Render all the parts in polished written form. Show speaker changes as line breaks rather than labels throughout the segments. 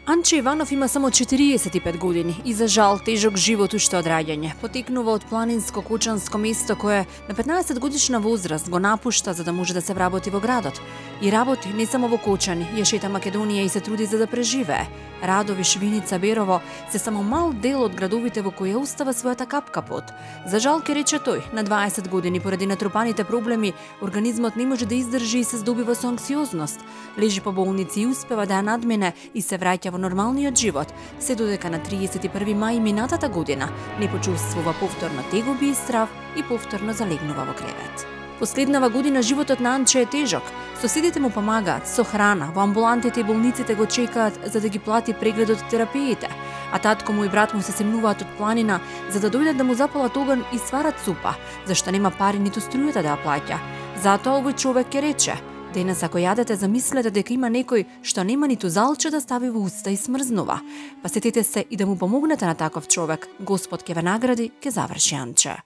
Анче Иванов има само 45 години и за жал тежок живот уште од раѓање. Потекнува од планинско кучанско место кое на 15 годишна возраст го напушта за да може да се вработи во градот. И работи не само во Кочани, ја шета Македонија и се труди за да преживее. Радови, Швиница, Берово се само мал дел од градовите во кои устава својата капка пот. За жал ке рече тој, на 20 години поради натрупаните проблеми, организмот не може да издржи и се здобива со анксиозност. Лежи по болници и успева да ја надмине и се враќа во нормалниот живот, се додека на 31 мај минатата година не почувствува повторно тегоби и страв и повторно залегнува во кревет. Последнава година животот на Анче е тежок. Соседите му помагаат со храна, во амбулантите и болниците го чекаат за да ги плати прегледот и терапиите, а татко му и брат му се семнуваат од планина за да дојдат да му запалат оган и сварат супа, зашто нема пари ниту струјата да ја плаќа. Затоа овој човек ќе рече: денес ако јадете, замислете дека има некој што нема ниту залче да стави во уста и смрзнува. Па сетете се и да му помогнете на таков човек. Господ ќе ве награди, ќе заврши Анче.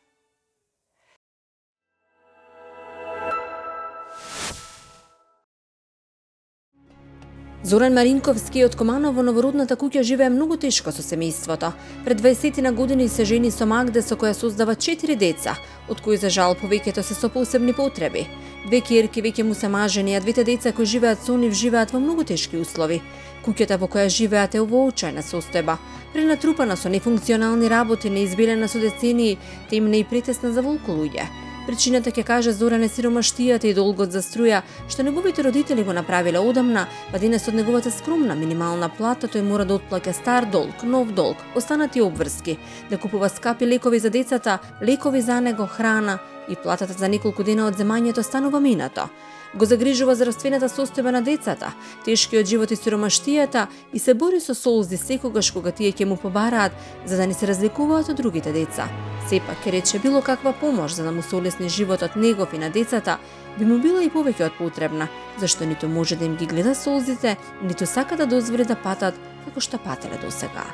Зоран Маринковски од Команово во новородната куќа живее многу тешко со семејството. Пред 20 на години се жени со Магда со која создава 4 деца, од кои за жал повеќето се со посебни потреби. 2 ќерки веќе му се мажени, а 2 деца кои живеат со нив живеат во многу тешки услови. Куќата во која живеат е во очајна состојба, пренатрупана со нефункционални работи, неизбелена со децении, темна и претесна за волку луѓе. Причината ќе каже Зоран е сиромаштијата и долгот за струја, што неговите родители го направиле одамна, па денес од неговата скромна минимална плата тој мора да отплаќа стар долг, нов долг, останати обврски, да купува скапи лекови за децата, лекови за него, храна и платата за неколку дена од земањето станува минато. Го загрижува здравствената состојба на децата, тешкиот живот и сиромаштијата и се бори со солзи секогаш кога тие ќе му побараат за да не се разликуваат од другите деца. Сепак ќе рече било каква помош за да му се олесни животот негов и на децата би му била и повеќе од потребна, зашто ниту може да им ги гледа солзите, ниту сака да дозволи да патат како што пателе досега.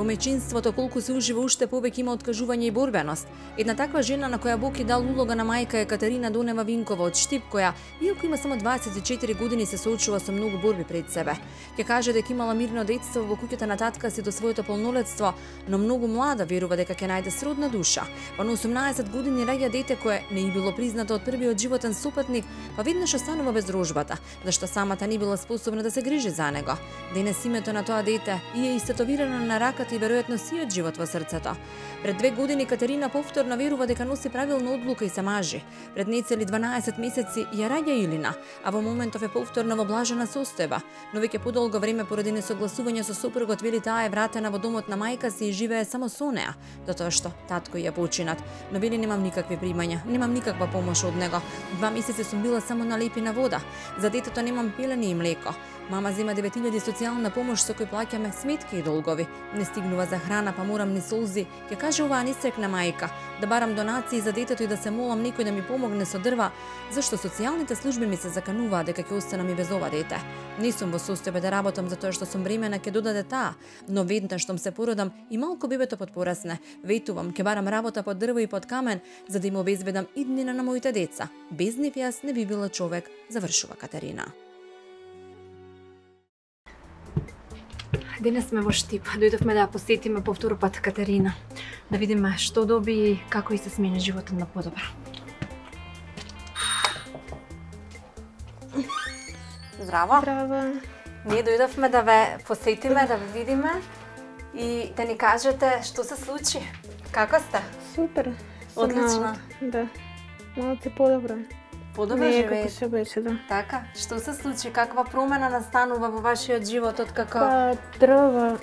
Во мајчинството колку се ужива уште повеќе има откажување и борбеност. Една таква жена на која Бог и дал улога на мајка е Катерина Донева Винкова од Штип, која, иако има само 24 години, се соочува со многу борби пред себе. Ќе каже дека имала мирно детство во куќата на татка си до своето полнолетство, но многу млада верува дека ќе најде сродна душа. Па на 18 години раѓа дете кое не и било признато од првиот животен сопатник, па веднаш останува без рожбата, зашто самата не била способна да се грижи за него. Денес името на тоа дете е истетовирано на раката и веројатно сиот живот во срцето. Пред 2 години Катерина повторно верува дека носи правилна одлука и се мажи. Пред нецели 12 месеци ја раѓа Илина, а во моментов е повторно во блажена состојба, но веќе подолго време поради несогласување со сопругот вели таа е вратена во домот на мајка си и живее само со неа, затоа што татко ја починат. Но вели немам никакви примања, немам никаква помош од него. 2 месеци сум била само на лепина вода. За детето немам пилени и млеко. Мама зема 9000 социјална помош со кој плаќаме сметки и долгови. Не стигнува за храна, па морам ни солзи, ќе каже оваа несрекна мајка, да барам донации за детето и да се молам некој да ми помогне со дрва, зашто социјалните служби ми се закануваат дека ќе останам и без ова дете. Не сум во состојба да работам затоа што сум бремена, ќе додаде таа, но веднаш штом се породам и малку бебето подпорасне, ветувам, ќе барам работа под дрво и под камен за да им обезбедам иднина на моите деца. Без нив јас не би била човек, завршува Катерина.
Денес сме во Штип. Дојдовме да ја посетиме по втор пат Катерина. Да видиме што доби и како и се смени животот на подобро.
Здраво.
Здраво.
Ние дојдовме да ве посетиме, да ве видиме и да ни кажете што се случи. Како сте?
Супер.
Одлично.
Да. Малце подобро.
Подобро
Не е
живеете.
како се беше, да.
Така, што се случи? Каква промена настанува во вашиот живот откако
Па дрва,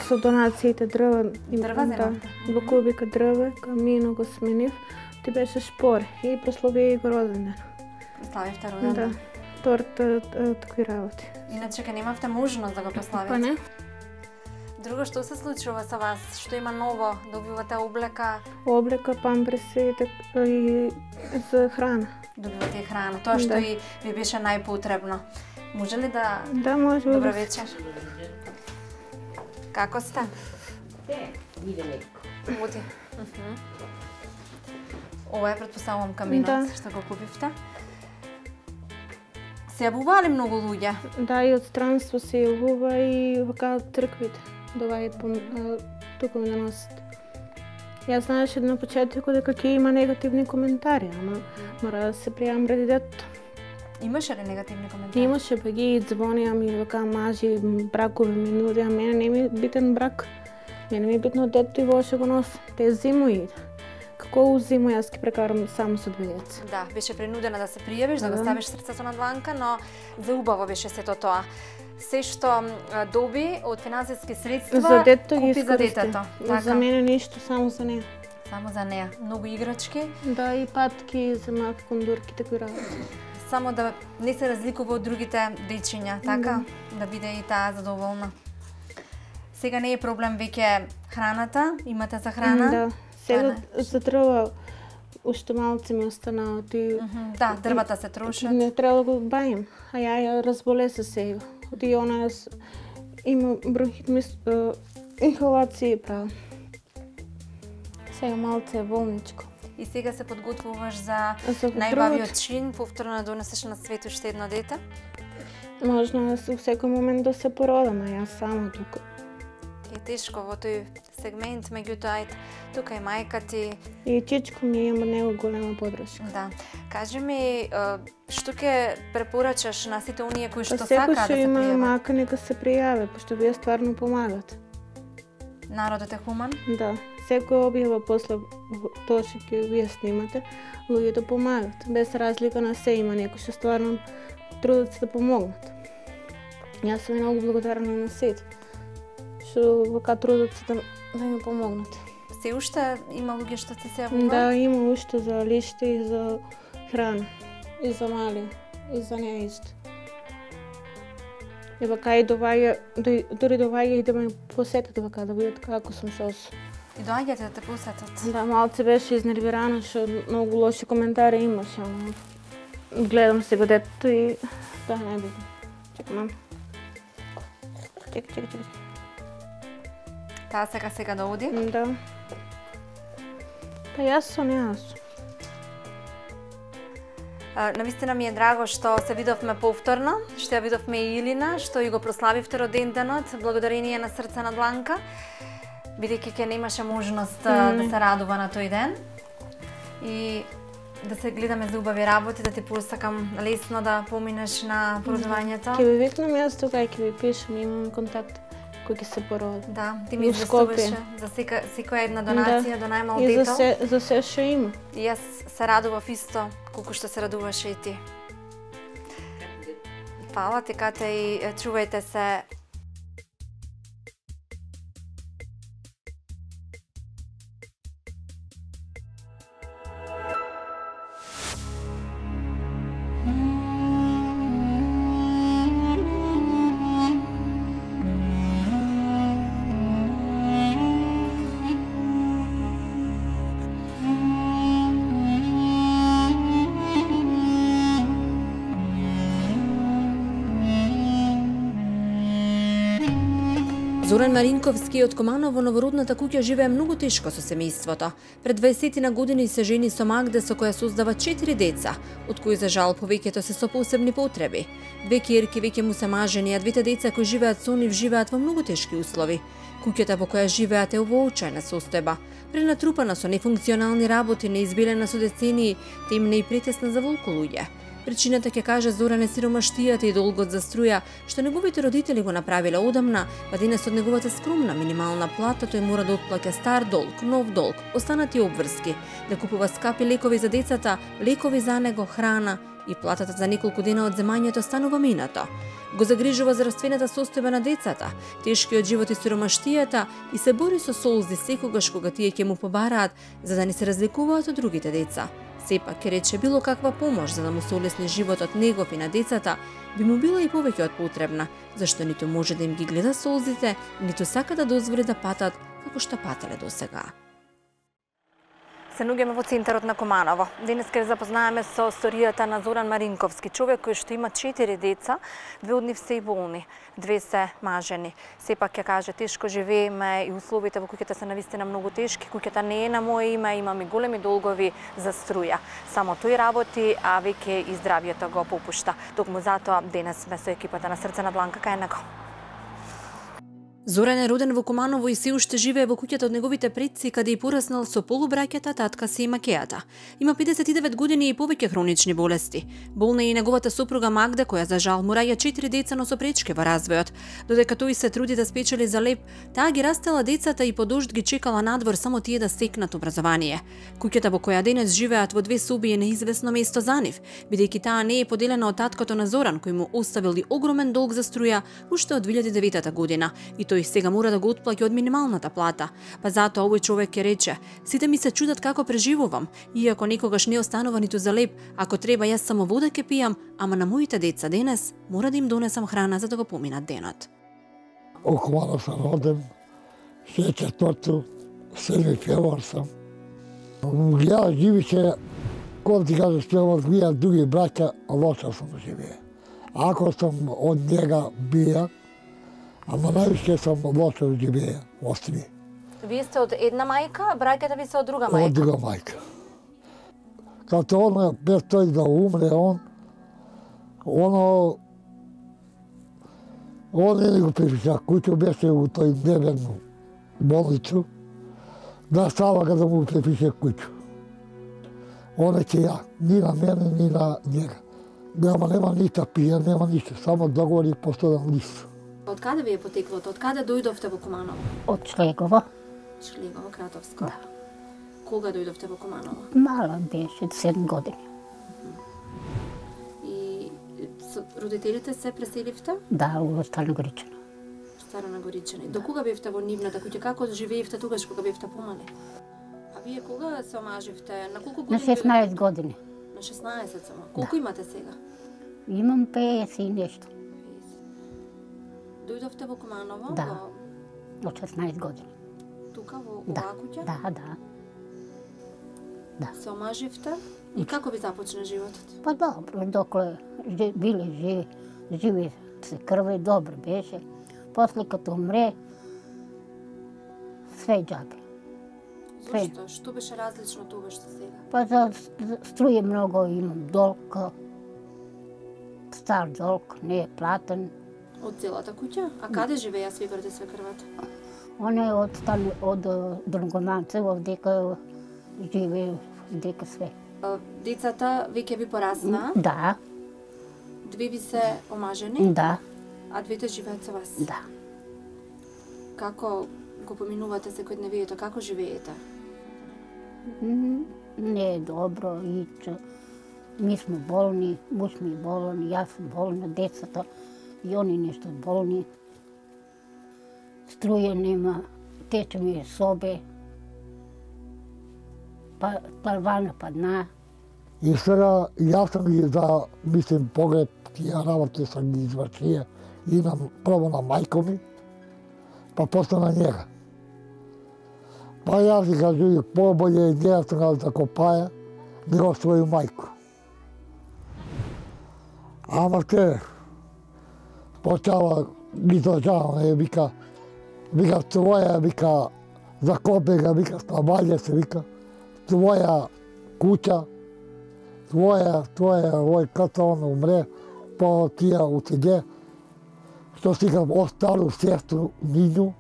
со донациите дрва.
Дрва
Да,
земавте?
во кубика дрва, камино го сменив. Ти беше шпор и прослави го роден ден.
прославивте роден
Да,
ден?
торта, такви работи.
Иначе ке немавте можност да го прославите.
Па не?
Друго што се случува со вас? Што има ново? Добивате облека,
Облека, памперси и за храна.
добивате и храна. Тоа што
Да.
и ви беше најпотребно. Може ли да...
Да, може
Добра
да.
вечер. Како сте?
Иде некако.
Оди. Ова е предпоставувам каминот
Да.
што го купивте. Се јавуваа ли многу луѓе?
Да, и од странство се јавува и вака црквите. Доаѓаат тука ми да носат. Јас знаеше на почетокот дека ќе има негативни коментари, ама мора да се пријавам ради детето.
Имаше ли негативни коментари?
Имаше па ги звонија ми вака мажи, бракови ми нудија, мене не ми е битен брак. Мене ми е битно детето и во што го носам. Те зимуи. Како зиму јас ќе прекарам само со две деца.
Да, беше принудена да се пријавиш, да го
Да.
ставиш срцето надванка, но за убаво беше сето тоа. Се што доби од финансиски средства,
За детето ги
купи за
искористи.
детето. Така,
За мене ништо, само за неа.
само за неа. Многу играчки,
Да, и патки, за малки кондурки, такви работи.
само да не се разликува од другите дечиња, така? Да биде и таа задоволна. Сега не е проблем веќе храната, имате за храна?
Да.
Тоа
Сега
не.
за дрва уште малце ми останаат и
Да, дрвата се трошат.
не треба да го бајам. А ја разболе се сега. И она има бронхит, инхалации правам. Сега малце е болничко.
И сега се подготвуваш за
За
најбавиот
првот,
чин, повторно да донесеш на свет уште едно дете?
можно во секој момент да се породам, а јас само тука.
Е тешко во тој сегмент, меѓутоа ет, тука е мајка ти.
И чичко ми има него голема подршка.
Да. Кажи ми, што ќе препорачаш на сите оние кои што
Па
сакаат
секој
да
што
се
има
пријават?
мака нека се пријаве, пошто вие стварно помагате.
Народот е хуман?
Да, секој објава после тоа што ќе вие снимате, луѓето помагат. Без разлика на се има некои што стварно трудат се да помогнат. Јас сум многу благодарна на сите што вака трудат се да ми помогнат.
Се уште има луѓе што се јавуваат?
Да, има уште за лиште и за храна. И за мали, и за неа исто. И вака и дури доваѓа и да ме посетат вака, да видат како сум сос.
И доаѓате да те посетат?
Да, малце беше изнервирана, што многу лоши коментари имаше, ама гледам сега детето и да, најбитно. Чекай, мам. Чекай.
Таа сега да оди?
Да. Па јас со неа сум.
Навистина ми е драго што се видовме повторно, што ја видовме и Илина, што и го прославивте роденденот, благодарение на Срце на Дланка, бидејќи ќе немаше можност да се радува на тој ден. И да се гледаме за убави работи, да ти посакам лесно да поминеш на породувањето.
Ќе ви викнам јас тука и ќе ви пишам, имам контакт кој ќе се породи.
Да, ти ми
Во
известуваше
Скопје.
за секоја една донација до најмал
И
дето.
за се што има.
И јас се радував исто, колку што се радуваше и ти. Фала ти, Кате, и чувајте се. Зоран Маринковски од Комано во новородната куќа живее многу тешко со семејството. Пред 20 на години се жени со Магда со која создава 4 деца, од кои за жал повеќето се со посебни потреби. Две ќерки веќе му се мажени, а двете деца кои живеат со нив живеат во многу тешки услови. Куќата во која живеат е во очајна состојба, пренатрупана со нефункционални работи, неизбелена со децении, темна и претесна за волку луѓе. Причината ќе каже Зоран е сиромаштијата и долгот за струја, што неговите родители го направиле одамна, па денес од неговата скромна минимална плата тој мора да отплаќа стар долг, нов долг, останати обврски, да купува скапи лекови за децата, лекови за него, храна и платата за неколку дена од земањето станува минато. Го загрижува здравствената состојба на децата, тешкиот живот и сиромаштијата и се бори со солзи секогаш кога тие ќе му побараат за да не се разликуваат од другите деца. Сепак ќе рече било каква помош за да му се олесни животот негов и на децата би му била и повеќе од потребна, зашто ниту може да им ги гледа солзите, ниту сака да дозволи да патат како што пателе досега. Се наоѓаме во центарот на Куманово. Денес ќе запознаеме со историјата на Зоран Маринковски, човек кој што има 4 деца, 2 од нив се и болни, 2 се мажени. Сепак ќе каже тешко живееме и условите во куќата се навистина многу тешки. Куќата не е на моје име, имам и големи долгови за струја. Само тој работи, а веќе и здравието го попушта. Токму затоа денес сме со екипата на Срце на дланка кај него. Зоран е роден во Куманово и се уште живее во куќата од неговите предци, каде и пораснал со полубраќата, татка си и макејата. Има 59 години и повеќе хронични болести. Болна е и неговата сопруга Магда, која за жал му раѓа 4 деца, но со пречки во развојот. Додека тој се труди да спечели за леп, таа ги растела децата и по дожд ги чекала надвор само тие да стекнат образование. Куќата во која денес живеат во 2 соби е неизвестно место за нив, бидејќи таа не е поделена од таткото на Зоран, кој му оставил и огромен долг за струја уште од 2009 година. И тој сега мора да го отплаќа од минималната плата. Па затоа овој човек ќе рече: сите ми се чудат како преживувам, иако никогаш не останува ниту за леп, ако треба јас само вода ќе пијам, ама на моите деца денес мора да им донесам храна за да го поминат денот.
Во Куманово сум роден, 64-ту, 7 февруар сам. Ја живише, кога ти кажа што вија други браќа, лошо сум живее. Ако сум од njega бија, ама највише сум лошо живее, остри.
Вие сте од една мајка, браќата ви се од друга мајка?
Од друга мајка. Като он, без тој да умре, он не го припиша куќу, беше у тој дневен болницу, да става да му припише куќу. Он е ќе ја, ни на мене, ни на njega. Нема ништо пија, нема ништо, само договори постојан лист.
Од каде ви е потеклото? Од каде дојдовте во Куманово?
Од Шлегово.
Шлегово, Кратовско.
Да.
Кога дојдовте во Куманово?
Мала беше, 7 години.
И со родителите се преселивте?
Да, во Стара Горичина.
Стара Нагоричани. До кога бевте во нивната куќа? Како живеевте тогаш кога бевте помали? А вие кога се омаживте? На колку
На
години?
16 години.
На 16 само. Колку имате сега?
Имам 50 и нешто.
Дојдовте во Куманово?
Да. Од 16 години.
Тука во
Да,
оваа куќа?
да.
Се омаживте? И како ви започна животот?
Па добро, докле биле живи се крве, добро беше. После като умре, све џабе.
Зошто? Што беше различно тогаш со сега?
Па за струја многу имам долг. Стар долг, не е платен.
Од целата куќа? А каде живеја свекрот и свекрвата?
Он е од Другоманце, овдека живе, дека све.
Децата веќе ви порасна?
Да,
2 ви се омажени?
да,
А 2 живеат со вас?
да.
Како го поминувате секојдневието? Како живеете?
Не е добро, и ми сме болни, муж ми е болен, јас сум болна, децата, и они нешто болни. Струја нема, тече ми е собе, парвана падна.
И сега јас сам ги мислим погреб, тие работи сам ги извршија. Имам прво на мајко ми, па после на njega. Па јас ги кажу, поболje е njega сам да копаја, него своју мајку. Ама те, почава ги дожаваме, вика, твоја, вика, за копега, вика, ставање се, вика, твоја куќа, твоја, овој ката он умре, по тија утеѓе, што си га остару сестру Нинју,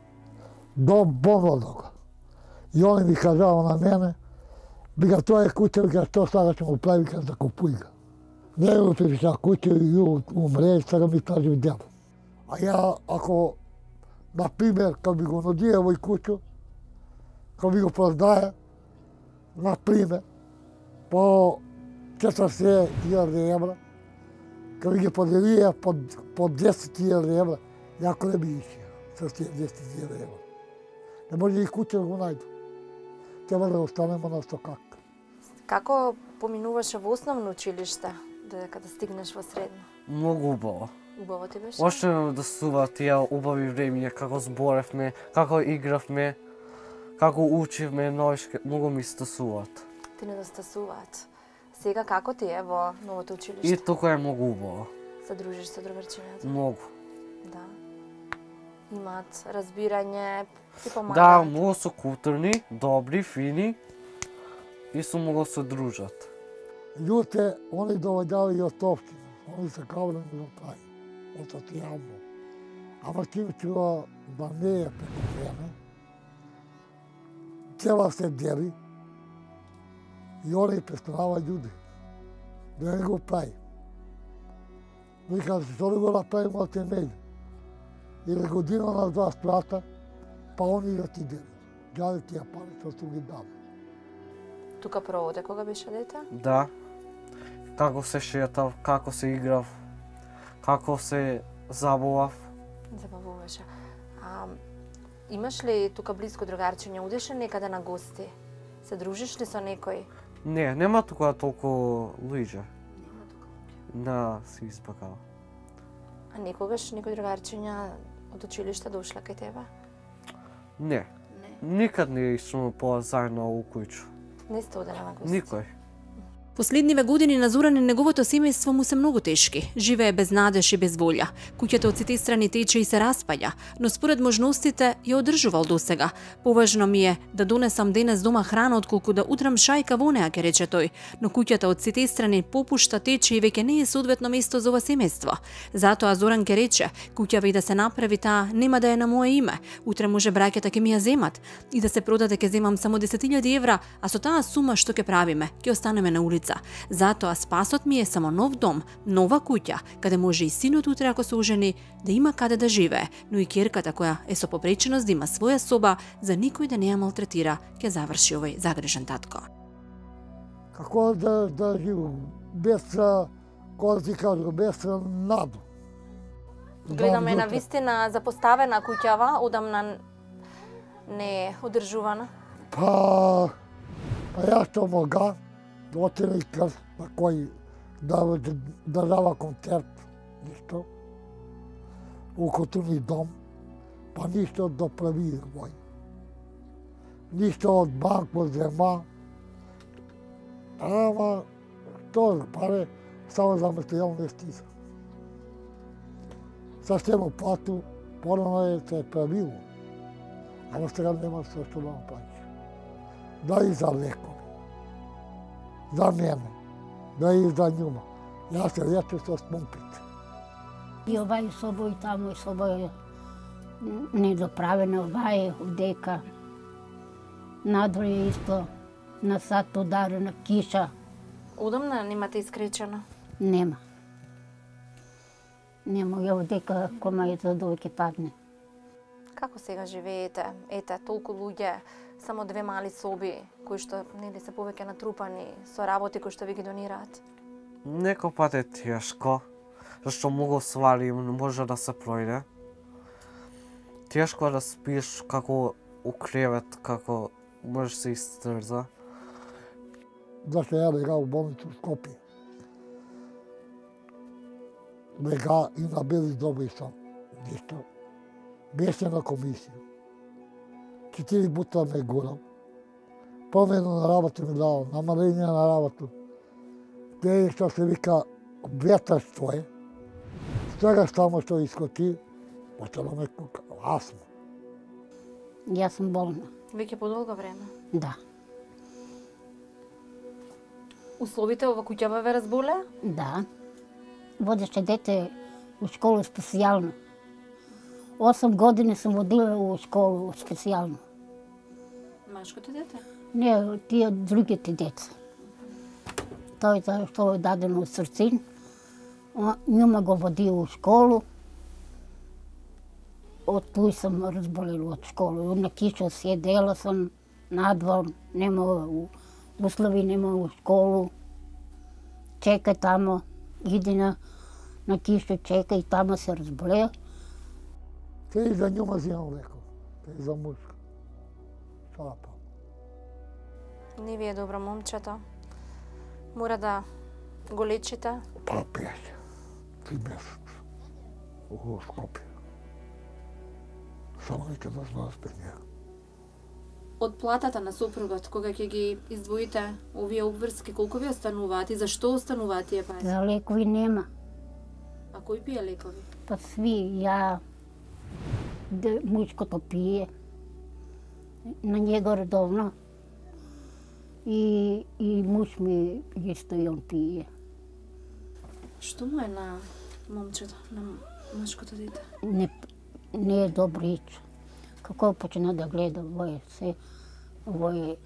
до болнодога. И он ми кажава на мене, вика, тоа е куќа, вика, што сакаш да му прави, вика, закупуј га. Не го припиша куќа и умре, сега ми тражи дел. А ја, ако, например, кога би го нудија овој куќу, кога би го продае, например, по 40.000 евра, кога би ги поделија по 10.000 евра, јако не би ишија со 10.000 евра. Не може и куќа да го најду. Треба да останемо на стокак.
Како поминуваше во основно училиште, додека да стигнеш во средно?
Многу убаво.
Убаво ти беше?
Още да сува тие убави времиња, како зборевме, како игравме, како учивме, многу ми стасуваат.
Ти недостасуваат. Сега како ти е во новото училиште?
И тука е многу убаво.
Се дружиш со другарчињата?
Многу.
Да. Имаат разбирање, ти
Да,
помагаат.
многу се културни, добри, фини и се многу се дружат.
Луѓе, они доведали и од општина. Они се кавали да прави. Од социјално. Ама ти учува да не е преко време. Цела се дели. И они престанава људи. Да не го прави. Вика, што да го направим од темели? Или година на 2 сплата, па они да ти дели. Гаде тие пари што су ги дали.
Тука проводе кога беше дете?
Да. Како се шетав, како се играв, како се забавав.
Забавуваше. Имаш ли тука близко другарчиња? Удеш ли некаде на гости? Се дружиш ли со некој?
Не, нема тука толку луѓе.
Нема тука.
Да, се испакава.
А некогаш некој другарчиња од училиште дошла кај тебе?
Не.
Не.
Никад не сум заедно у куќу.
Не сте одели на гости?
Никој.
Последниве години на Зоран и неговото семејство му се многу тешки. Живее без надеж и без волја. Куќата од сите страни тече и се распаѓа, но според можностите ја одржувал досега. Поважно ми е да донесам денес дома храна отколку да утрам шајка во неа, ке рече тој. Но куќата од сите страни попушта, тече и веќе не е соодветно место за ова семејство. Затоа Зоран ке рече, куќава и да се направи таа нема да е на мое име. Утре може браќата ќе ми ја земат и да се продаде ќе земам само 10.000 евра, а со таа сума што ќе правиме? Ќе останеме на улица. Затоа спасот ми е само нов дом, нова куќа, каде може и синот утре ако се ожени да има каде да живее, но и ќерката која е со попреченост да има своја соба, за никој да не ја малтретира, ќе заврши овој загрижен татко.
Како да живам без, кој ти кажу, без наду.
Гледаме на вистина запоставена куќава, одамна не е одржувана.
Па ја што мога, отиде крст на кој да дава концерт, ништо, у културни дом, па ништо до прави мој. Ништо од банко зема, ама што паре само за материјални стиза. Сашто плату, порано е се правило, ама сега нема се што да направиш. Да и за лекови. За мене, да и за њума. Јас се лече со спомпите.
И овај соба и таму и соба е недоправена, овај е одека. Надвор е исто, на сад ударена киша.
Удамна немате искречено?
Нема. Нема, ја одека кома е за да ќе падне.
Како сега живеете? Ете, толку луѓе, само 2 мали соби, кои што нели се повеќе натрупани со работи кои што ви ги донираат.
Некој пат е тешко, зашто многу свари може да се пројде. Тешко е да спиш како у кревет, како може се истрза.
Зашто ја бега у болницу в Скопје. Бега и на бели зоби сам, ништо. Беше на комисија. 4 пута ме гурал. Помено на работа ми дал, намаление на работа. Те што се вика ветарство е. Сега само што искоти, почело ме кука, астма.
Јас сум болна.
Веќе подолго време.
Да,
Условите ова куќава ве разболеа?
да. Водеше дете у школу специјално. 8 години сум водила у школу специјално.
Машкото дете?
Не, тие другите деца. тој што е дадено срцин, njuma го води у школу. Од туј сам разболела од школа. На киша седела сам надвор, нема услови, нема у школу. Чека тамо, иди на киша, чека и тамо се разболеа.
Те и за njuma взимам леко, те и за мушка. Шапа.
Не ви е добро, момчето. Мора да го лечите.
Па 3 месеца. У Скопје. Само нека да знаеш пред неја.
Од платата на сопругот, кога ќе ги издвоите овие обврски, колку ви остануваат и зашто остануваат тие пари?
За лекови нема.
А кој пие лекови?
Па сви, ја, мујчкото пие, на него редовно. И муж ми исто и он пие.
Што му е на момчето, на машкото дете?
Не е добрич. Како почна да гледа овој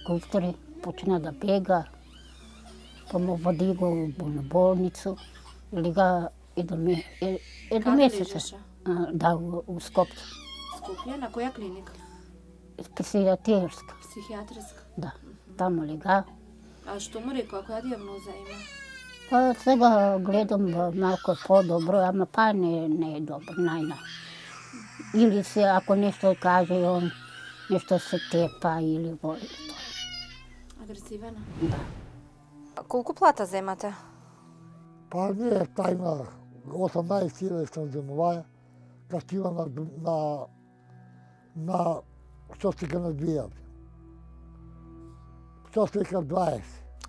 култури, почна да бега, па му води го на болницу, или га едно месеца.
лежеше?
Да, у Скопје.
Скопје, на која клиника?
Психијатрска,
Психијатриска.
да. Тамо лега.
А што му рекоа, која дијагноза има?
Па сега гледам малку по-добро, ама па не е добро, најна. Или се, ако нешто каже, он нешто се тепа или во...
Агресивена?
Да.
Колку плата земате?
Па не е тајна, 18.000 сам земуваја, кастива на што се га надвијат. Што се ка 20.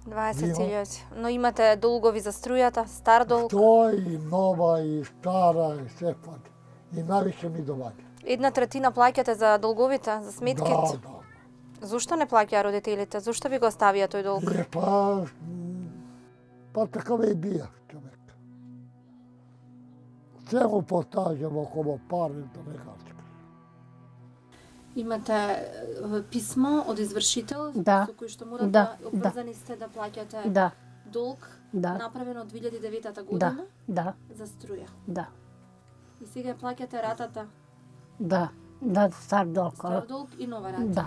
20.000. Но имате долгови за струјата, стар долг?
Тој, нова и стара и секвак. И навише ми доваѓа.
1/3 плаќате за долговите, за сметките?
Да.
Зошто не плаќаа родителите? Зошто ви го оставија тој долг?
Па така ме бија човек. Се му постажам около пари да не кажем.
Имате писмо од извршител
Да.
со кој што морате
Да,
обврзани сте да плаќате
Да,
долг
да,
направен од 2009
да,
година
да,
за струја.
да,
И сега ја плаќате ратата,
да, стар долг.
стар долг и нова рата.
Да.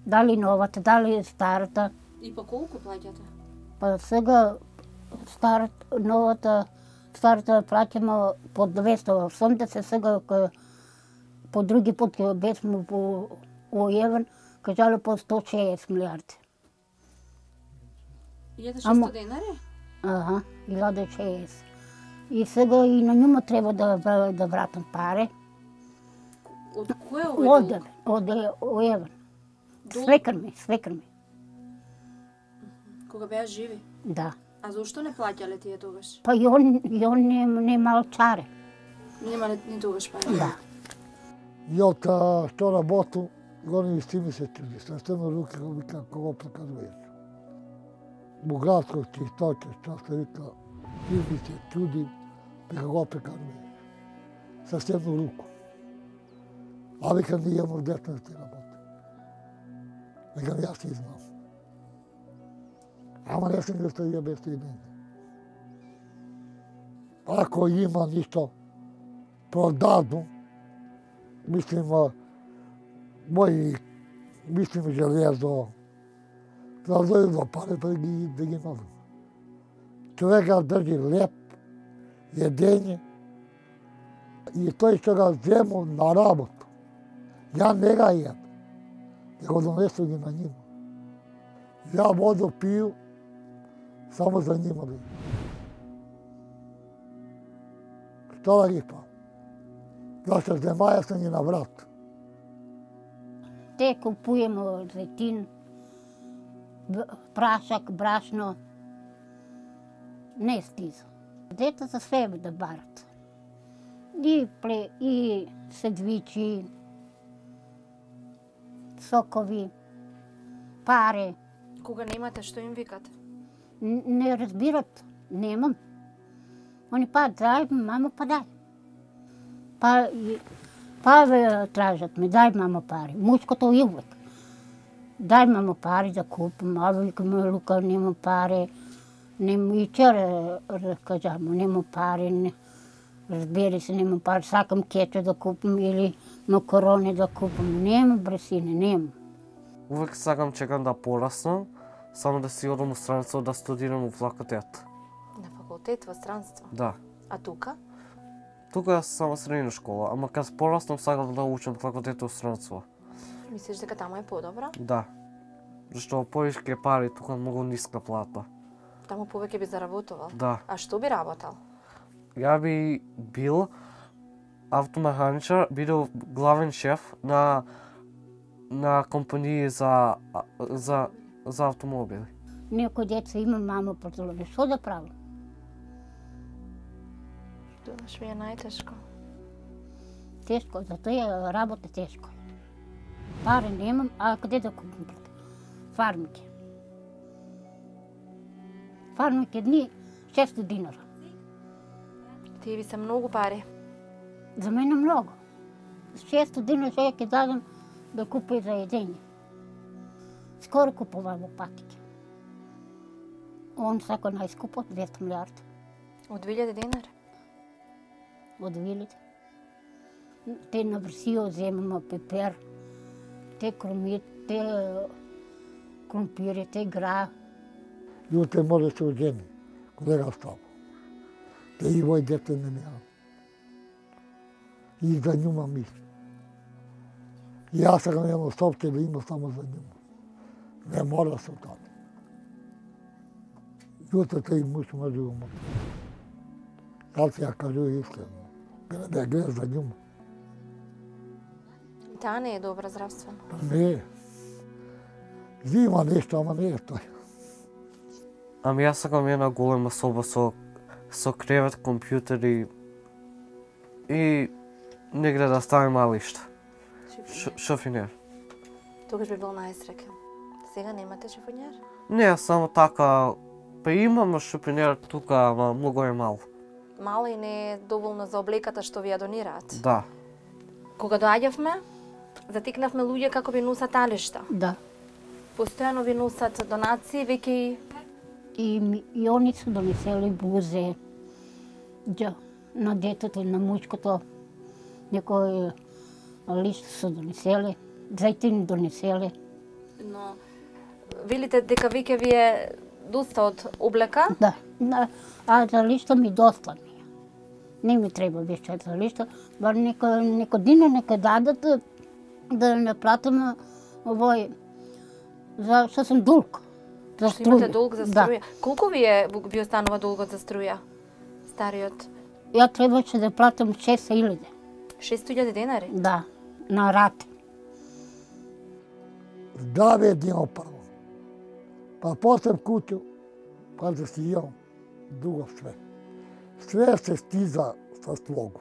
Дали новата, дали старата.
И по колку плаќате?
Па сега старата плаќаме по 280, сега по други пат бесме по оевен, кажале по 160 милиарди.
1600 денари?
Ага, 1060. И сега и на njuma треба да вратам пари.
Од кој е овој долг?
Од оевен.
Долг?
Свекар ми.
Кога беа живи?
Да.
А зошто не плаќале тие тогаш?
Па и он не малчаре.
Нема ни тогаш пари.
Да.
И од што работу, гони си ми се чуди. Съвсем руки го вика кого прекаруваш. Богатство, чистота, што се вика, ти ми се чуди, како прекаруваш. Съвсем руку. А вика ние имам дете да ти работи. Викам, јас си знам. Ама не сум да стоја без мене. Ако има ништо продадно, мислим, железо, да дојдо пари да ги надам. Човека држи леп, једење, и тој што го зему на работу. Ја не ga једам, ја го донесу ги на њима. Ја воду пiju, само за њима да једам. Што да ги пам? Зашто земаја се ни на врат.
Те купуємо зетин, прашак, брашно. Не стиза. Дете за себе да барат. И седвичи, сокови, пари.
Кога немате, што им викате?
Не разбират. Немам. Они дај, мамо, дај. Па тражат ми, дај мамо пари. Мујското и увек. Дај мамо пари да купам, а викам Лука нема пари. И вчера кажа му нема пари, разбери се нема пари, сакам кечо да купам или макарони да купам. Нема бре сине, нема.
Увек сакам чекам да пораснам, само да си одам у странство да студирам у факултет.
На факултет во странство?
Да.
А тука?
Тука е само средна школа, ама кога пораснам сакам да учам факултет у странство.
Мислиш дека таму е подобро?
Да. Зашто повеќе пари, тука многу ниска плата.
Таму повеќе би заработувал?
Да.
А што би работел?
Ја би бил автомеханичар, бидел главен шеф на компании за автомобили.
Некој деца има мамо поцелови, што да правам?
Думаш ми е најтешко.
Тешко, затоа работа тешко. Пари немам, а каде да купам? Фармики. Фармики дни 600 динара.
Тие би се многу пари.
За мене многу. 600 динара сега ќе дадам да купи за едење. Скоро купувам патики. Он сака најскупо од 200 милиарди.
Од 2000 денари?
Од 2000. Те на Врсио земаме пепер, те кромит, те кромпири, те гра.
Јутре може да се оđени, колега Ставо. Те и вој дете не неа. И за њума мисли. И јас сакам едно собстве да има само за њума. Не мора се таде. Јутре тој муж може да ума. Дали ја кажу искрено. Да ја гледа за њума.
Таа не е добра здравствено.
Не е. Има нешто, ама не е тој.
Ами јас сакам една голема соба со кревет, компјутери и негде да ставим малишта. Шофинер.
Тогаш би бил најсреќен. Сега немате шофинер?
Не, само така, па имам шофинер тука, ама многу е мал.
Мало и не е доволно за облеката што ви ја донираат.
Да.
Кога доаѓавме, затекнавме луѓе како ви носат алишта.
Да.
Постојано ви носат донации, веќе
И они се донесели бузе на детето и на мучкото. Некој лист се донесели, зајтини донесели.
Но велите дека веќе ви е доста од облека?
Да, а за лишта ми доста ми е. Не ми треба више за лишта, бар некој дина нека дадат да не платам овој, што сум дулг. За
Што имате
струја.
долг за струја? Колку ви останува долгот за струја? Стариот?
Ја требаше да платам 6.000.
6.000 денари?
Да, на рат.
Здраве днево прво. Па после куќу, па да си имам друго све. Све се стиза со слогу.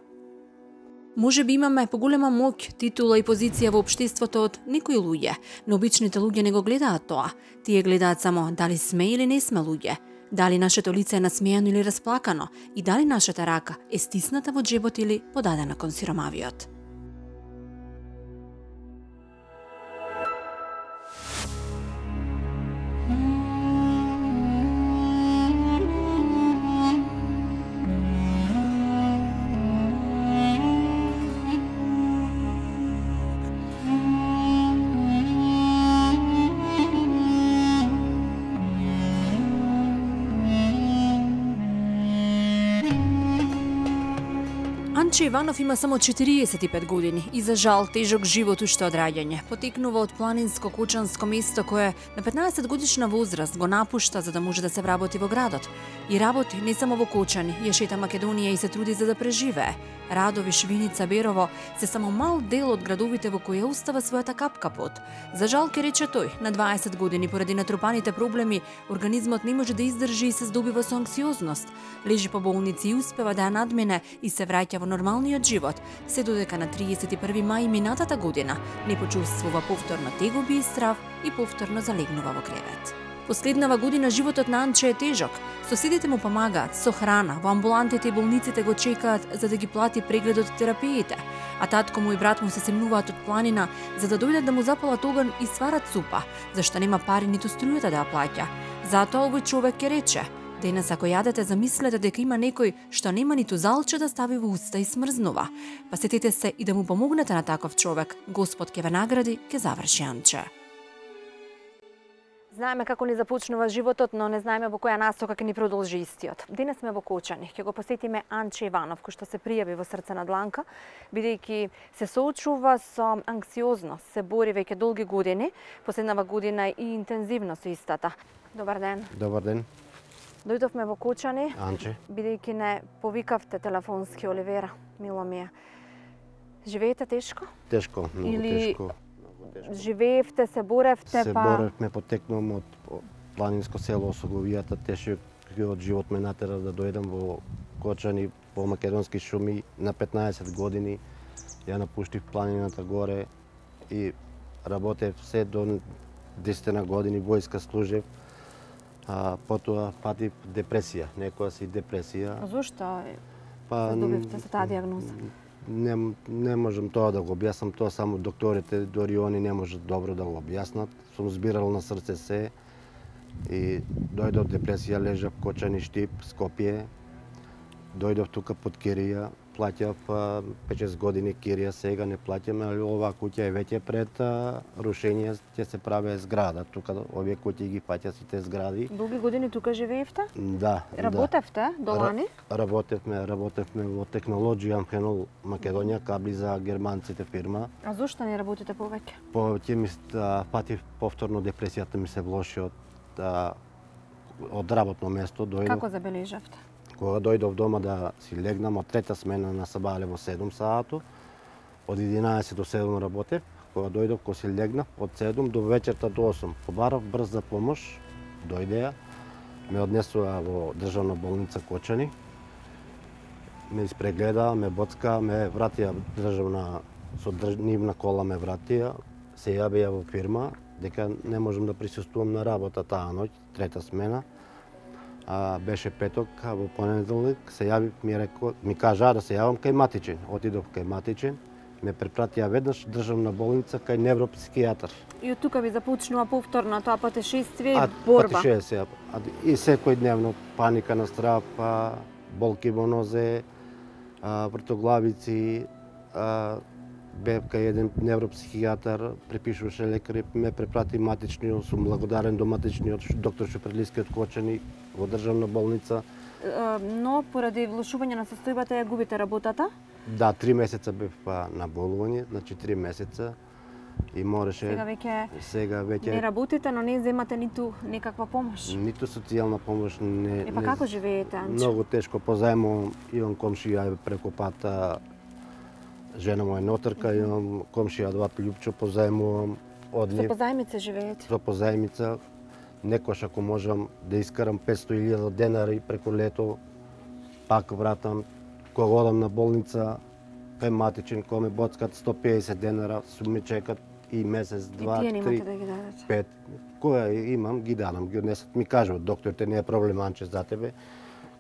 Може би имаме поголема моќ, титула и позиција во општеството од некои луѓе, но обичните луѓе не го гледаат тоа. Тие гледаат само дали сме или не сме луѓе, дали нашето лице е насмејано или расплакано и дали нашата рака е стисната во џебот или подадена кон сиромавиот. Анче Иванов има само 45 години и за жал тежок живот уште од раѓање. Потекнува од планинско кучанско место кое на 15 годишна возраст го напушта за да може да се вработи во градот. И работи не само во Кочани, ја шета Македонија и се труди за да преживее. Радови, Швиница, Берово се само мал дел од градовите во кои устава својата капка пот. За жал ке рече тој, на 20 години поради натрупаните проблеми, организмот не може да издржи и се здобива со анксиозност. Лежи по болници и успева да ја надмене и се враќа во нормалниот живот, се додека на 31 мај минатата година не почувствува повторно тегоби и страв и повторно залегнува во кревет. Последнава година животот на Анче е тежок. Соседите му помагаат со храна, во амбулантите и болниците го чекаат за да ги плати прегледот и терапиите, а татко му и брат му се семнуваат од планина за да дојдат да му запалат оган и сварат супа, зашто нема пари ниту струјата да ја плаќа. Затоа овој човек ќе рече: денес ако јадете, замислете дека има некој што нема ниту залче да стави во уста и смрзнува. Па сетете се и да му помогнете на таков човек. Господ ќе ве награди, ќе заврши Анче. Знаеме како ни започнува животот, но не знаеме во која насока ќе ни продолжи истиот. Денес сме во Кочани, ќе го посетиме Анче Иванов, кој што се пријави во Срце на дланка, бидејќи се соочува со анксиозност, се бори веќе долги години, последнава година и интензивно со истата. Добар ден.
Добар ден.
Дојдовме во Кочани,
Анче.
бидејќи не повикавте телефонски Оливера, мило ми е. Живеете тешко?
Тешко, многу
Или
тешко.
живеевте, се боревте,
Се боревме, потекнувам од планинско село Осоговијата, тешкиот живот ме натера да дојдам во Кочани, во македонски шуми на 15 години. Ја напуштив планината горе и работев се до 10 години, војска служев. Потоа патив депресија, некоја си депресија.
Зошто
Па
се здобивте со таа дијагноза?
Не можам тоа да го објаснам, тоа само докторите, дори они не можат добро да го објаснат. Сум збирал на срце се и дојдов депресија, лежав Кочани, Штип, Скопје. Дојдов тука под кирија, плаќав 5-6 години кирија, сега не плаќаме, али оваа куќа е веќе пред рушење, ќе се прави зграда. Тука овие куќи ги фаќа сите згради.
Долги години тука живеевте?
Да.
Работевте до лани?
Работевме во технологија Амхенол Македонија, кабли за германците фирма.
А зошто не работите повеќе?
Повеќе ми патив повторно депресијата ми се влоши од работно место.
Како забележавте?
Кога дојдов дома да си легнам, од трета смена на сабале во 7 саато, од 11 до 7 работев. Кога дојдов, кога си легнав, од 7 до вечерта до 8. Побарав брза помош, дојде ја, ме однесува во државна болница Кочани, ме испрегледа, ме боцка, ме вратија државна, со нивна кола ме вратија, се јавија во фирма, дека не можам да присуствувам на работа таа ноќ, трета смена. Беше петок, во понеделник се јави, ми кажаа да се јавам кај Матичен. Отидов кај Матичен, ме препратија веднаш државна болница кај невропсихијатар.
И од тука ви започнува повторно тоа патешествие и борба.
Патешествие. И секој дневно паника на страв, болки во нозе, вртоглавици, бев кај еден невропсихијатар, препишуваше лекари, ме препрати Матичниот, сум благодарен до Матичниот доктор Шупрелиски од Кочани во државна болница.
Но поради влошување на состојбата ја губите работата?
Да, 3 месеца бев на болување, значи 3 месеца и мореше.
Сега веќе не работите, но не земате ниту некаква помош.
Ниту социјална помош не.
Па како живеете, Анче?
Многу тешко позајмувам, имам комшија преку пата. Жена моја ноторка, имам комшија Адват Љупчо, позајмувам од нив.
Со позајмица живеете?
Со позајмица. Некош ако можам да искарам 500.000 денари преку лето, пак вратам. Кога одам на болница, кај Матичен, кога ме боцкат 150 денара, су ме чекат и месец, 2, 3, 5.
И тие немате да ги дадете?
Кога имам, ги дадам, ги однесат. Ми кажуват, докторите, не е проблем, Анче, за тебе.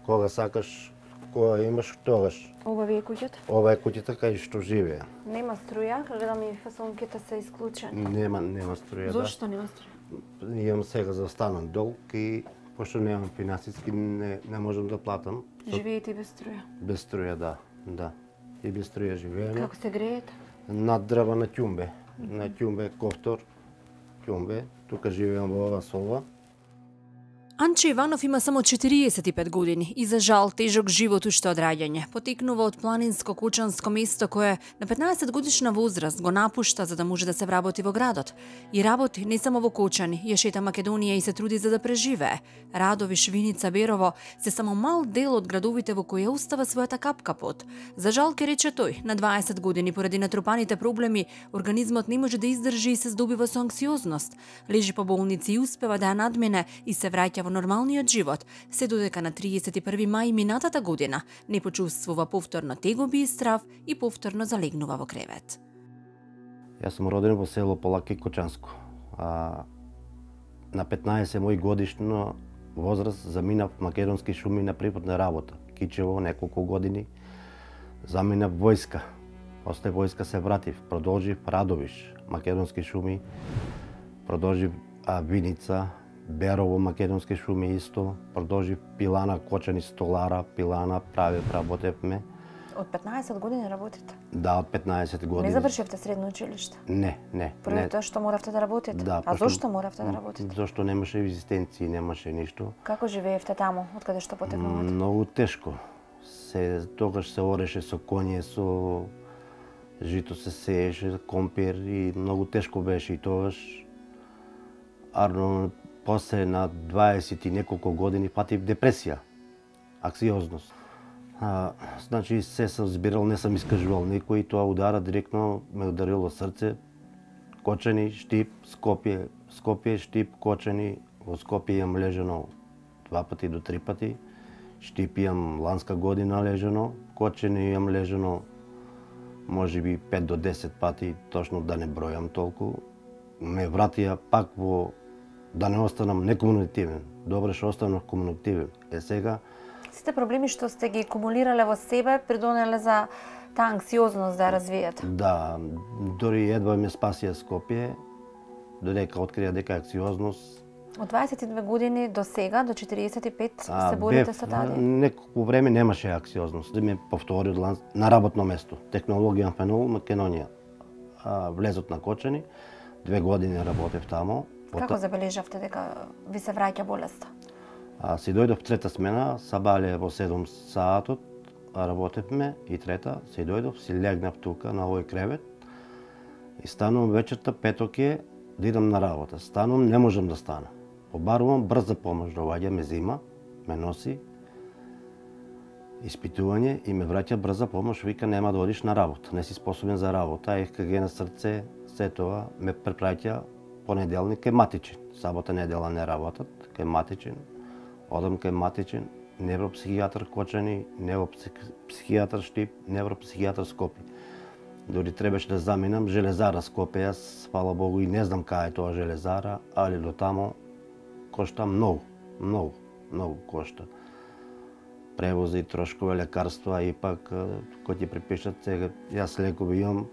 Кога сакаш, кога имаш, тогаш.
Ова ви е куќата?
Ова е куќата кај што живеа.
Нема струја, гледам и фасонките се исклучени.
Нема струја,
Зошто нема струја?
Имам сега застанан долг и пошто немам финансиски, не можам да платам.
Живеете и без струја?
Без струја, да. И без струја живееме.
Како се греете?
Над дрва на ќумбе. На ќумбе, кофтор, ќумбе. Тука живеам во ова соба.
Анче Иванов има само 45 години и за жал тежок живот уште од раѓање. Потекнува од планинско кочанско место кое на 15 годишна возраст го напушта за да може да се вработи во градот. И работи не само во Кочани, ја шета Македонија и се труди за да преживее. Радови, Швиница, Берово се само мал дел од градовите во кои устава својата капка пот. За жал ке рече тој, на 20 години поради натрупаните проблеми, организмот не може да издржи и се здобива со анксиозност. Лежи по болници и успева да ја надмине и се враќа во нормалниот живот, се додека на 31 мај минатата година не почувствува повторно тегоби и страв и повторно залегнува во кревет.
Јас сум роден во село Полаки Кочанско. на 15 мој годишна возраст заминав македонски шуми на приватна работа. Кичево неколку години заминав војска. После војска се вратив, продолжив Радовиш, македонски шуми, продолжив Виница, Берово, македонски шуми исто, продолжив Пилана, Кочани, Столара, Пилана, работевме.
Од 15 години работите?
Да, од 15 години.
Не завршивте средно училиште?
Не.
Поради тоа што моравте да работите?
Да,
а зошто моравте да работите?
Зошто немаше екзистенција, немаше ништо.
Како живеевте таму, од каде што потекнувате?
Многу тешко. Тогаш се ореше со коње, со жито се сееше, компир и многу тешко беше и тогаш. Арно, после на 20 и неколку години патив депресија, аксиозност. Значи се сум збирал, не сум искажувал никој и тоа удара директно ме ударило срце. Кочани, Штип, Скопје, Штип, Кочани. Во Скопје имам лежано 2 пати до 3 пати. Штип имам ланска година лежано, Кочани имам лежано можеби 5 до 10 пати, точно да не бројам толку. Ме вратија пак во да не останам некомуникативен. Добре што останав комуникативен. Сега
Сите проблеми што сте ги акумулирале во себе придонеле за таа анксиозност да ја развиете.
Да, дори едва ме спасија Скопје, додека открија дека анксиозност.
Од 22 години до сега, до 45, се борите со таа?
Неколку време немаше анксиозност. Да ме повтори на работно место. Технологија Фенол, Македонија. Влезот на Кочани, 2 години работев таму.
Како забележавте дека ви се враќа болеста?
Си дојдов трета смена, сабале во 7 саатот, работевме и трета, си дојдов, си легнав тука на овој кревет и станувам вечерта, петок е, да идам на работа. Станувам, не можам да стана. Побарувам, брза помош доаѓа, ме зима, ме носи, испитување и ме враќа брза помош, вика нема да одиш на работа, не си способен за работа, ЕКГ на срце, се тоа ме препраќа понеделник кај Матичен. Сабота, недела не работат, кај Матичен. Одам кај Матичен, невропсихијатар Кочани, невропсихијатар Штип, невропсихијатар Скопје. Дори требаше да заминам железара Скопје, јас, фала Богу, и не знам кај е тоа железара, али до тамо кошта многу кошта. Превози, трошкове, лекарства, и пак, кој ти припишат сега, јас лекови имам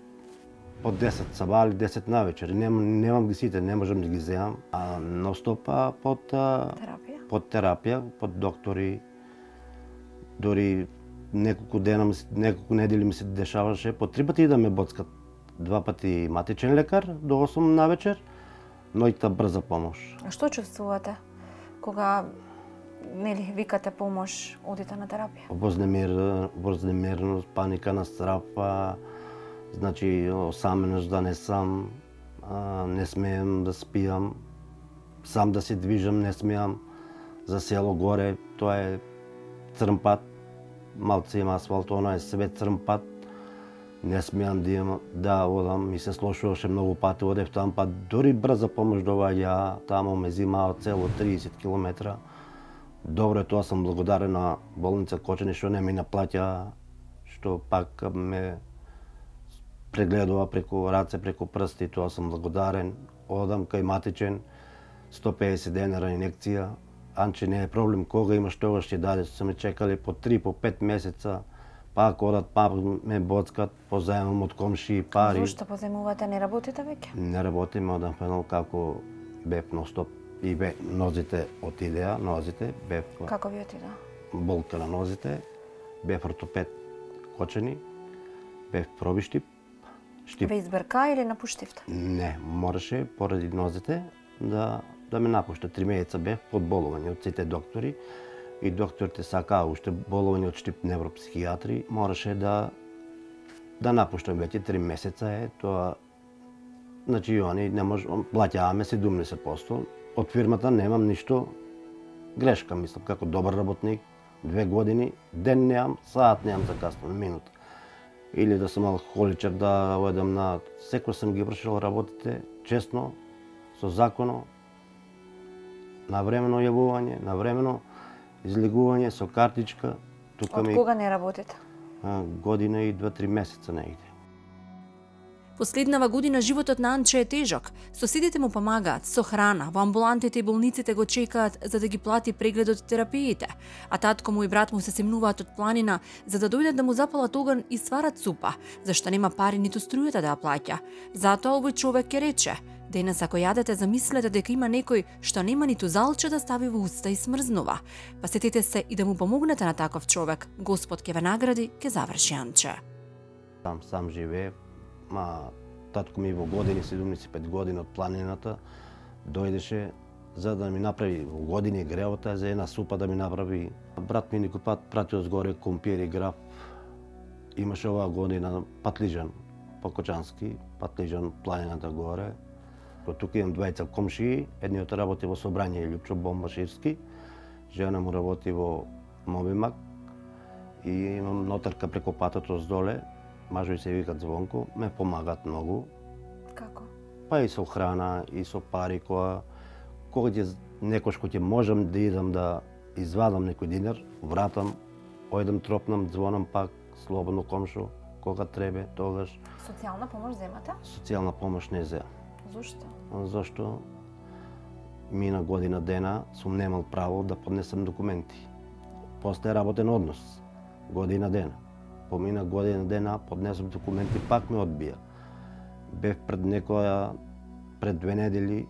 по 10 сабали, 10 навечер. Немам ги сите, не можам да ги земам. Ностопа под терапија, под доктори. Дори неколку недели ми се дешаваше, по 3 пати да ме боцкат. 2 пати Матичен лекар до 8 навечер, ноќта брза помош.
А што чувствувате кога викате помош, одите на терапија?
Вознемиреност, паника на страв, значи осаменост да не сам, не смеем да спијам, сам да се движам не смеам. За село горе, тоа е црн пат, малце има асфалт, оно е себе црн пат. Не смеам да одам, ми се слошуваше многу пати, одев там, па дори брза помош доаѓа, тамо ме зимаа цело 30 километра. Добро е тоа, сум благодарен на болница Кочани што не ми наплаќа, што пак ме прегледува преку раце, преку прсти, тоа сум благодарен. Одам кај Матичен, 150 денара инекција. Анче не е проблем, кога имаш тогаш ќе даде, се ме чекале по 3, по 5 месеца, пак одат, пак ме боцкат, позаемам од комши пари.
Зошто позаемувате, не работите веќе?
Не работим, одам Фенол како бев ностоп и нозите отидеа, бев...
Како ви отидеа?
Болка на нозите, бев ортопед Кочани, бев проби Штип.
Ве избрка или напуштивте?
Не, мораше поради нозите да ме напушта. 3 месеца бев под болување од сите доктори и докторите сакаа уште болување од Штип невропсихијатри, мораше да напуштам веќе 3 месеца е тоа. Значи они не може, плаќаваме 70%. Од фирмата немам ништо грешка, мислам, како добар работник, 2 години, ден немам, саат немам закаснен, минута. Или да сум алкохоличар, да одам на... Секој сум ги вршил работите, честно, со законо, навремено јавување, навремено излегување со картичка.
Од кога не работите?
Година и 2-3 месеца негде.
Последнава година животот на Анче е тежок. Соседите му помагаат со храна, во амбулантите и болниците го чекаат за да ги плати прегледот и терапиите, а татко му и брат му се семнуваат од планина за да дојдат да му запалат оган и сварат супа, зашто нема пари ниту струјата да ја плаќа. Затоа овој човек ќе рече: денес ако јадете, замислете дека има некој што нема ниту залче да стави во уста и смрзнува. Па сетете се и да му помогнете на таков човек. Господ ќе ве награди, ќе заврши Анче.
Сам живее, татко ми во години, 75 години од планината, дојдеше за да ми направи во години греота за една супа да ми направи. Брат ми некој пат пратил згоре компир и граб. Имаше оваа година патлижан, покочански, патлижан планината горе. Тука имам двајца комшии, едниот работи во собрање Љупчо Бомбашевски, жена му работи во Мобимак и имам нотарка преко патот оздоле, мажови се викат Звонко, ме помагаат многу.
Како?
Па и со храна, и со пари, кога некош ќе можам да идам да извадам некој динар, вратам, ојдам тропнам, звонам пак, слободно комшо, кога требе, тогаш.
Социјална помош земате?
Социјална помош не зема.
Зошто?
Зашто мина година дена сум немал право да поднесам документи. После работен однос, година дена. Помина година дена, поднесам документи, пак ме одбија. Бев пред 2 недели,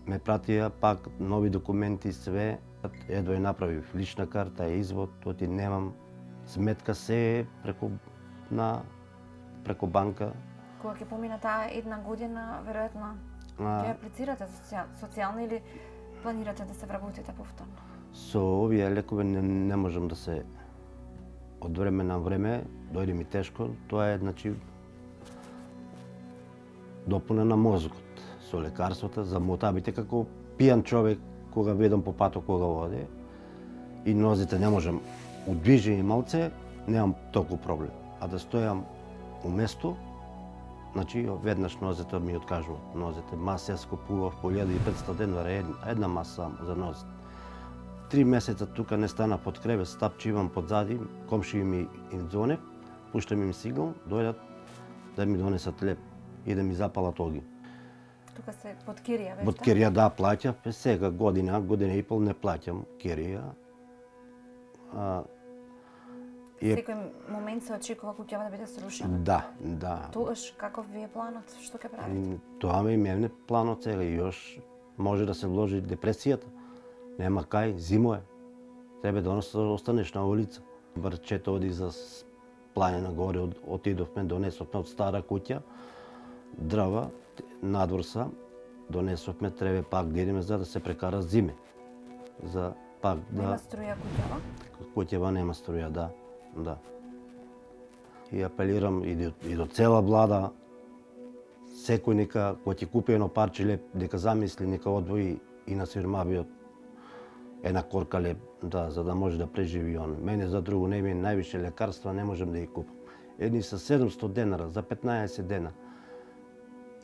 ме пратија пак нови документи, све. Едва ја направив лична карта, извод, оти немам сметка, се преко банка.
Кога ќе помина таа една година, веројатно ќе аплицирате социјално или планирате да се вработите повторно?
Со овие лекови не можам да се од време на време, дојде ми тешко, тоа е допуна на мозгот со лекарствата за мотабите како пијан човек кога ведам по патот кога води и нозите не можам удвижени малце, немам толку проблем. А да стојам уместо, веднаш нозете ми откажуваат. Нозете, маса јас купував по 1500 денара една маса само за нозете. 3 месеца тука не стана под кревет, стапчивам подзади, комши ми им звонев, пуштам им сигнал, дојдат да ми донесат леп и да ми запалат огин.
Тука се под кирија, веште?
Под кирија, да, плаќав. Сега година и пол не плаќам кирија.
Секој момент се очекува куќава да биде срушена?
Да.
Тогаш каков ви е планот? Што ќе правите?
Тоа ми е планот сега и још може да се вложи депресијата. Нема кај, зимо е. Тебе да останеш на улица. Брчето оди за планина горе, отидовме, донесовме од стара куќа, дрва, надвор са, донесовме, треба пак да идеме за да се прекара зиме. За пак да...
Нема струја куќава?
Куќава нема струја, да. И апелирам и до цела влада, секој нека, кој ќе купи едно парче леп, дека замисли, нека одвои и на сиромавиот една корка леп, за да може да преживи он. Мене за друго не ми највише лекарства, не можам да ги купам. Едни са 700 денара за 15 дена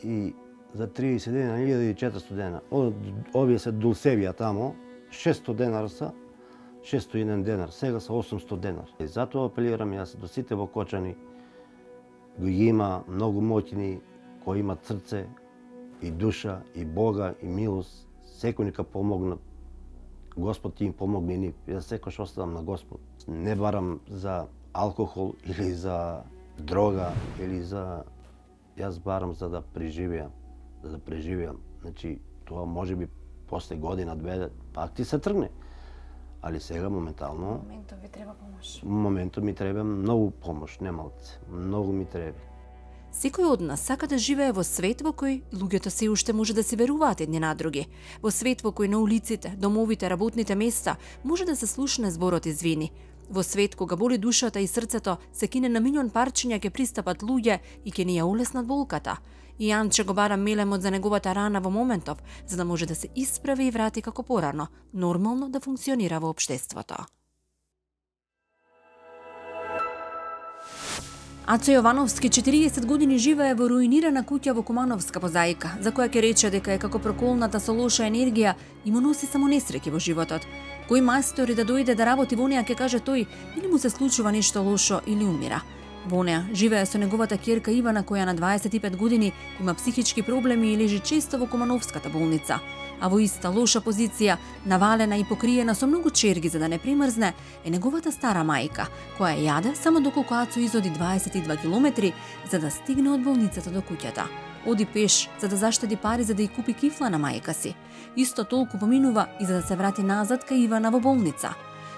и за 30 дена 1400 дена. Овие се Дулсевија тамо, 600 денара са, 601 денар, сега са 800 денар. И затоа апелирам јас до сите во Кочани, ги има многу моќни, кои имат срце и душа, и Бога, и милост, секој нека помогнат. Господ ти им помогне и нив. Јас секојаш оставам на Господ. Не барам за алкохол или за дрога или за... Јас барам за да преживеам. Тоа може би после година, 2, пак ти се тргне. Али сега моментално...
Моментот ви треба помош.
Моментот ми треба многу помош, не малце. Многу ми треба.
Секој од нас сака да живее во свет во кој луѓето се уште може да се веруваат едни на други. Во свет во кој на улиците, домовите, работните места може да се слушне зборот извини. Во свет кога боли душата и срцето, се кине на милион парчиња ќе пристапат луѓе и ќе ни ја улеснат болката. И Анче го бара мелемот за неговата рана во моментов, за да може да се исправи и врати како порано, нормално да функционира во општеството. Ацо Јовановски 40 години живее во руинирана куќа во Кумановска позаика, за која ќе рече дека е како проколната со лоша енергија и му носи само несреќи во животот. Кој мајстори да дојде да работи во неа ќе каже тој, или му се случува нешто лошо или умира. Во неа живее со неговата ќерка Ивана, која на 25 години има психички проблеми и лежи често во Кумановската болница. А во иста лоша позиција, навалена и покриена со многу черги за да не примрзне, е неговата стара мајка, која јаде само доколку Ацо изоди 22 километри за да стигне од болницата до куќата. Оди пеш за да заштеди пари за да ја купи кифла на мајка си. Исто толку поминува и за да се врати назад кај Ивана во болница.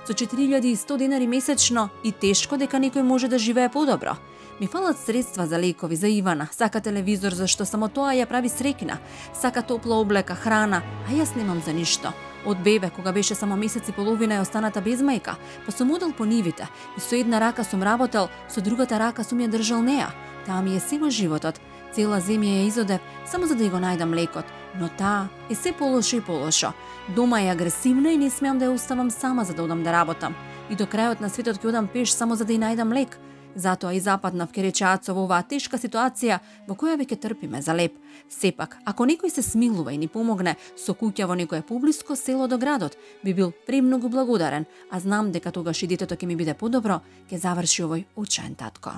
Со 4100 денари месечно и тешко дека некој може да живее подобро. Ми фалат средства за лекови за Ивана, сака телевизор зашто само тоа ја прави среќна, сака топла облека, храна, а јас немам за ништо. Од бебе, кога беше само месец и половина е останата без мајка, па сум одел по нивите и со една рака сум работел, со другата рака сум ја држал неа. Таа ми е сего животот. Цела земја ја изодев само за да ја го најдам лекот, но таа е се полошо и полошо. Дома е агресивна и не смеам да ја оставам сама за да одам да работам. И до крајот на светот ќе одам пеш само за да ја најдам лек. Затоа и западнав, ке рече Ацо, во оваа тешка ситуација во која веќе трпиме за леп. Сепак, ако некој се смилува и ни помогне со куќа во некое поблиско село до градот, би бил премногу благодарен, а знам дека тогаш и детето ќе ми биде подобро, ќе заврши овој учен татко.